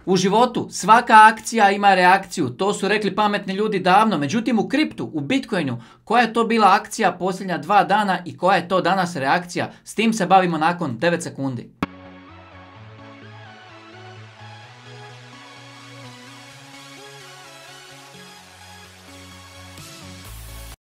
U životu svaka akcija ima reakciju, to su rekli pametni ljudi davno, međutim u kriptu, u Bitcoinu, koja je to bila akcija posljednja 2 dana i koja je to danas reakcija, s tim se bavimo nakon 9 sekundi.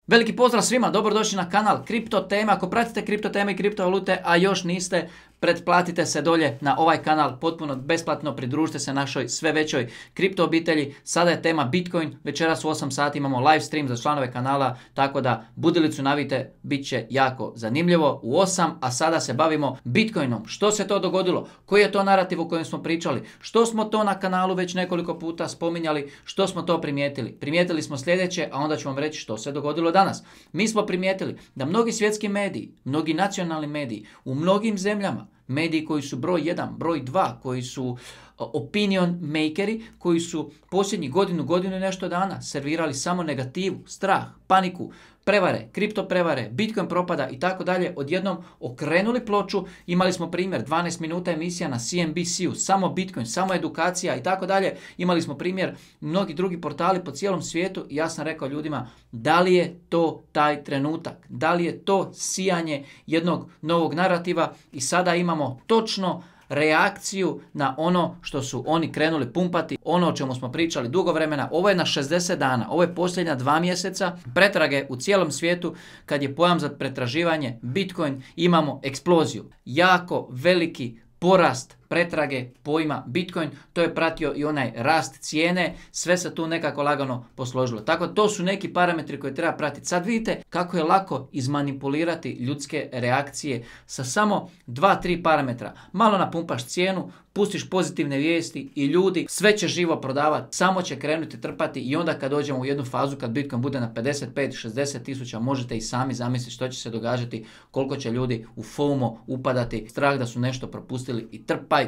Veliki pozdrav svima, dobrodošli na kanal Kripto Teme. Ako pratite kripto teme i kriptovalute, a još niste, pretplatite se dolje na ovaj kanal, potpuno besplatno, pridružite se našoj sve većoj kripto obitelji. Sada je tema Bitcoin, večeras u 8 sati imamo live stream za članove kanala, tako da budilicu navite, bit će jako zanimljivo u 8, a sada se bavimo Bitcoinom. Što se to dogodilo? Koji je to narativ o kojem smo pričali? Što smo to na kanalu već nekoliko puta spominjali? Što smo to primijetili? Primijetili smo sljedeće, a onda ću vam reći što se dogodilo danas. Mi smo primijetili da mnogi svjetski mediji, mnogi nacionalni mediji u mnogim zemljama, mediji koji su broj 1, broj 2, koji su opinion makeri, koji su posljednjih godinu i nešto dana servirali samo negativu, strah, paniku, prevare, kripto prevare, Bitcoin propada i tako dalje, odjednom okrenuli ploču. Imali smo primjer 12 minuta emisija na CNBC-u, samo Bitcoin, samo edukacija i tako dalje. Imali smo primjer mnogi drugi portali po cijelom svijetu i ja sam rekao ljudima, da li je to taj trenutak, da li je to sijanje jednog novog narativa i sada imamo točno reakciju na ono što su oni krenuli pumpati, ono o čemu smo pričali dugo vremena. Ovo je na 60 dana, ovo je posljednja 2 mjeseca pretrage u cijelom svijetu. Kad je pojam za pretraživanje Bitcoin, imamo eksploziju, jako veliki porast pretrage pojma Bitcoin, to je pratio i onaj rast cijene, sve se tu nekako lagano posložilo. Tako to su neki parametri koje treba pratiti. Sad vidite kako je lako izmanipulirati ljudske reakcije sa samo 2-3 parametra. Malo napumpaš cijenu, pustiš pozitivne vijesti i ljudi sve će živo prodavati, samo će krenuti trpati i onda kad dođemo u jednu fazu kad Bitcoin bude na 55-60 tisuća, možete i sami zamisliti što će se događati, koliko će ljudi u FOMO upadati, strah da su nešto propustili i trpaj.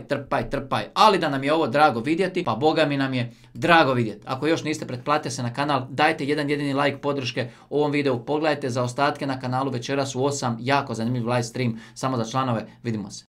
Ali da nam je ovo drago vidjeti, pa boga mi nam je drago vidjeti. Ako još niste, pretplatite se na kanal, dajte jedan jedini like podrške ovom videu, pogledajte za ostatke na kanalu večeras u 8, jako zanimljiv live stream samo za članove, vidimo se.